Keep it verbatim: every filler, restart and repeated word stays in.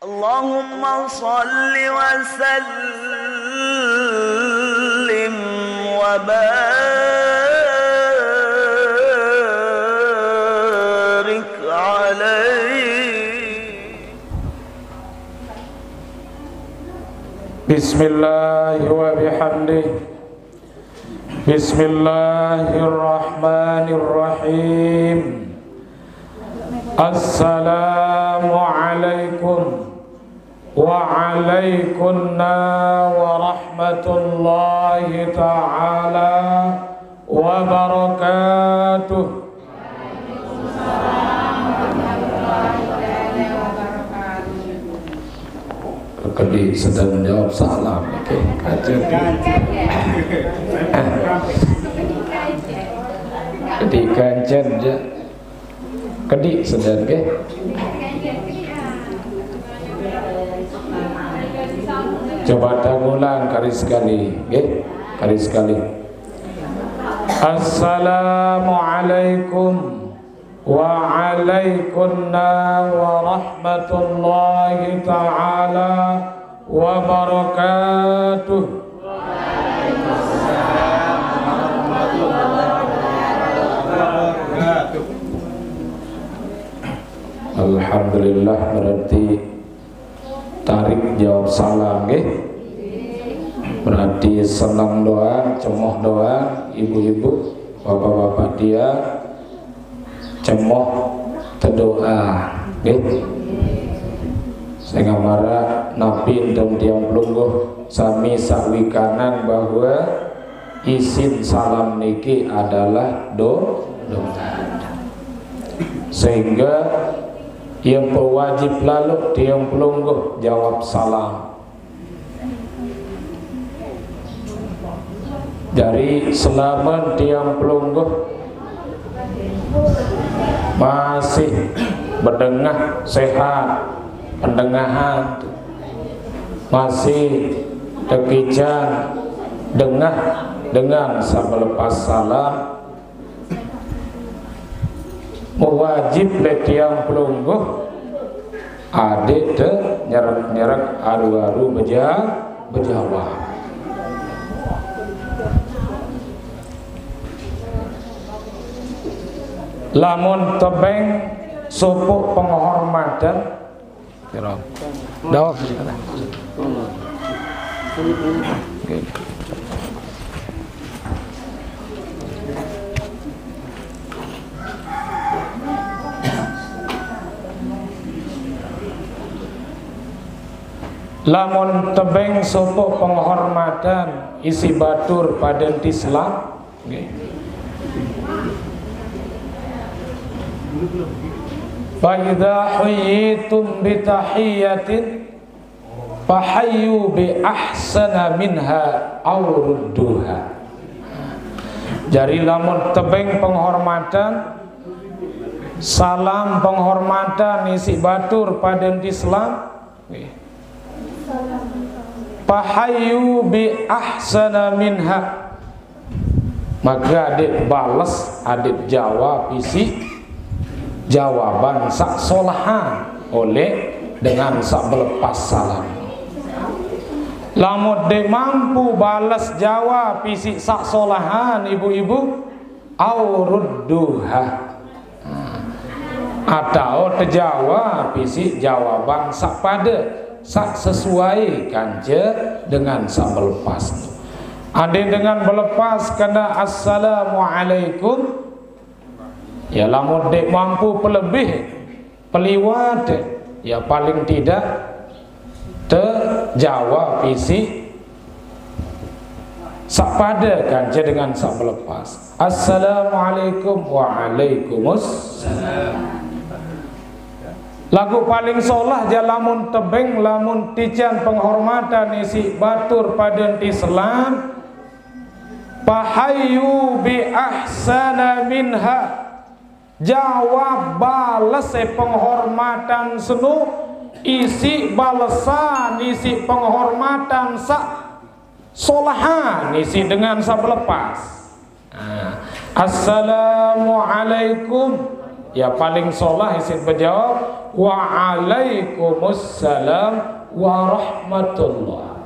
اللهم صل وسلم وبارك عليه. بسم الله وبحمده. بسم الله الرحمن الرحيم. السلام عليكم وعليكن ورحمة الله تعالى وبركاته. Kedi sedang jawab salam niki. Kancen. Kedi kancen je. Kedi sedang nggih. Coba tangulang kali sekali, nggih. Kali sekali. Assalamualaikum وعليكن ورحمة الله تعالى وبركاته. Alhamdulillah, berarti tarik jawab salam nggih. Berarti senang doang, cemoh doang, ibu-ibu, bapak-bapak dia cemoh tedoa nggih. Sehingga mara napi enten tiang pelungguh sami sawikanan bahwa isin salam niki adalah do doa. Sehingga ia pewajib lalu tiang pelungguh jawab salam. Dari selamen tiang pelungguh masih bedengah sehat, pendengahan masih tekicang dengah dengan sabelepas salam. Mewajib le tiang pelungguh adik te nyerek-nyerek aru-aru beja bejawab. Lamun tebeng supuk penghormatan. Kira. Dawab. Oke. Lamun tebeng supuk penghormatan isi batur paden tislam. Nggih. Fa idza huyyitum bi tahiyyatin fahayyu bi ahsana minha aw rudduha. Jari lamun tebeng penghormatan, salam penghormatan isi batur paden tislam. Nggih. Fahayyu bi ahsana minha. Maka adik bales, adik jawab isi jawaban sak solahan oleh dengan sak belepas salam. Lamun dek mampu bales jawab isi sak solahan ibu-ibu, aw rudduha. Atau tejawab isi jawaban sak pada, sak sesuai kance dengan sak belepas. Ade dengan belepas kena assalamualaikum, ya lamun dek mampu pelebih, peliwat, ya paling tidak tejawab isi sak pada kance dengan sak belepas. Assalamualaikum, waalaikumussalam. Lagu paling solah ja lamun tebeng, lamun tican penghormatan isi batur paden tislam, fahayyu bi ahsana minha. Jawab bales e penghormatan senu, isi balesan isi penghormatan sak solahan isi dengan sak belepas. Nah, assalamualaikum. Ya paling solah isin bajawab, "Wa alaikumussalam warahmatullah."